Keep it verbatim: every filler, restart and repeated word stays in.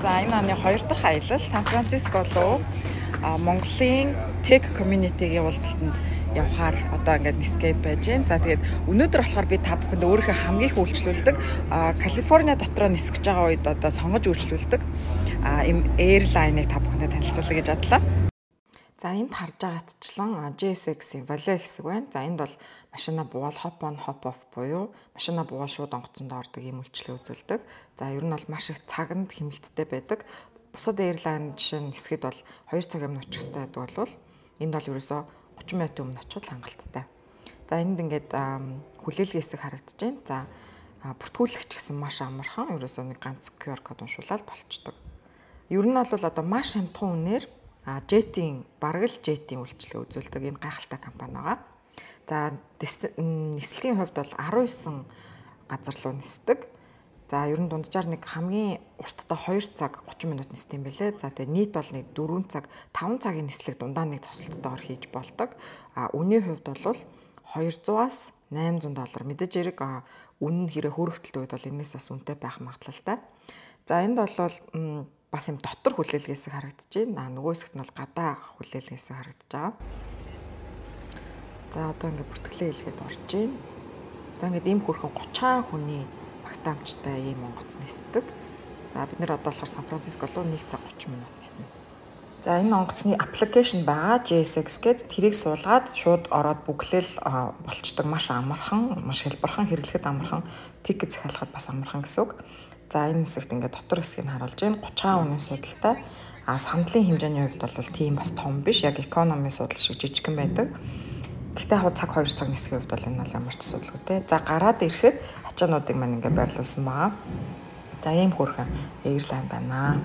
За энэ оны хоёр дахь аялал Сан Франциско руу Монголын Tech community-гийн уулзалтанд явахаар одоо ингээд escape байж байна. За тэгээд өнөөдөр болохоор би та бүхэнд өөрийнхөө хамгийн их үйлчлүүлдэг Калифорни дотроо нисгэж байгаа үед одоо сонгож үйлчлүүлдэг ийм airline-ыг та бүхэндээ танилцуулъя гэж бодлоо. За энд харж байгаагтчлан J S X-ийн Valet хэсэг байна. За энд бол машина буул hop on hop off буюу машина буул шууд онгоцонд ордог ийм үйлчлэл үзүүлдэг. За ер нь бол маш их цагнд хэмнэлттэй байдаг. Бусад airline жишээ нь хэсгэд бол хоёр цаг өмнө очих хэрэгтэй байдаг бол энд бол ерөөсөө thirty минутын өмнө очиход хангалттай. За энд ингээд хүлээлгийн хэсэг харагдаж байна. За бүртгүүлэгч гэсэн маш амархан ерөөсөө нэг ганц Q R код уншуулаад болчдөг. Ер нь бол одоо маш хямдхан үнээр А Jet-ийн бараг л Jet-ийн үйлчлэл үзүүлдэг ийм гайхалтай компани байгаа. За нислэгийн хувьд бол nineteen газар руу нисдэг. За ер нь дунджаар нэг хамгийн уртдаа two цаг thirty минут нисдэг юм билээ. За тэгээ нийт бол нэг four цаг five цагийн нислэг дундаа нэг тосолтойгоор хийж болдог. А үнийн хувьд бол two hundred-аас eight hundred доллар. Мэдээж хэрэг үнэ нь хэрэг хөөрөгдөлт үед бол энэс бас үнэтэй байх магадлалтай. За энд бол бас юм дотор хүлээлгээс харагдаж байна. Нөгөө хэсэгт нь бол гадаа хүлээлгээс харагдаж байгаа. За одоо ингээд бүртгэлээ хэлгээд орж байна. За ингээд ийм хөрхөн thirty хүний багтаамжтай ийм онгоц нисдэг. За бид нэр одоо болохоор Сан Франциско руу one цаг thirty минут нисэн. За энэ онгоцны аппликейшн байгаа J S X гээд тэрийг суулгаад шууд ороод бүглээл болчдөг. Маш амархан, маш хэлбархан хэрэглэхэд амархан, тикет захиалахад бас амархан гэсэн үг. За энэ хэсэгт ингээд дотор хэсгийг харуулж байна. thirty үнийн судалтай. А сандлын хэмжээний хувьд бол тийм бас том биш. Яг economy судал шиг жижигхэн байдаг. Гэхдээ яг цаг two цаг нисэх хувьд бол энэ бол ямар ч судалгүйтэй. За гараад ирэхэд ачаануудыг маань ингээд байрлуулсан байгаа. За ийм хөрхэн airline байна.